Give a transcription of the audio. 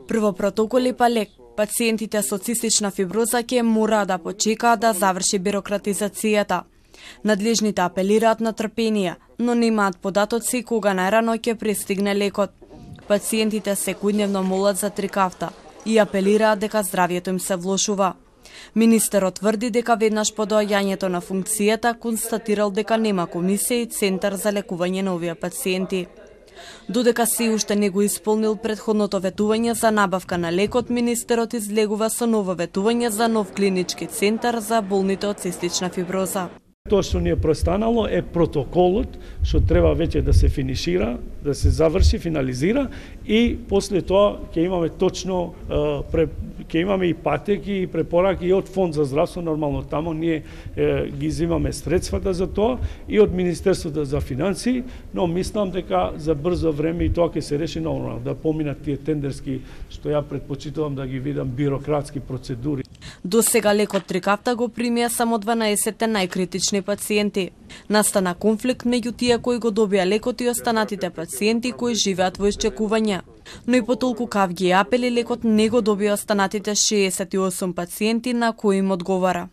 Прво протоколи па лек. Пациентите со цистична фиброза ќе мора да почекаат да заврши бирократизацијата. Надлежните апелираат на трпение, но немаат податоци кога најрано ќе пристигне лекот. Пациентите секојдневно молат за трикафта и апелираат дека здравјето им се влошува. Министерот тврди дека веднаш по доаѓањето на функцијата констатирал дека нема комисија и центар за лекување на овие пациенти. Додека се уште не го исполнил предходното ветување за набавка на лекот, министерот излегува со ново ветување за нов клинички центар за болните од цистична фиброза. Тоа што ни е престанало е протоколот што треба веќе да се финишира, да се заврши, финализира и после тоа ќе имаме точно ќе имаме и патеки и препораки и од Фонд за здравство, нормално таму ние ги изимаме средствата за тоа и од Министерството за финансии, но мислам дека за брзо време и тоа ќе се реши нормално, да поминат тие тендерски што ја предпочитувам да ги видам бирократски процедури. До сега лекот трикафта го примија само 12 најкритични пациенти. Настана конфликт меѓу тие кои го добија лекот и останатите пациенти кои живеат во исчекување. Но и по толку кавги и апели лекот не го добија останатите 68 пациенти на кои им одговара.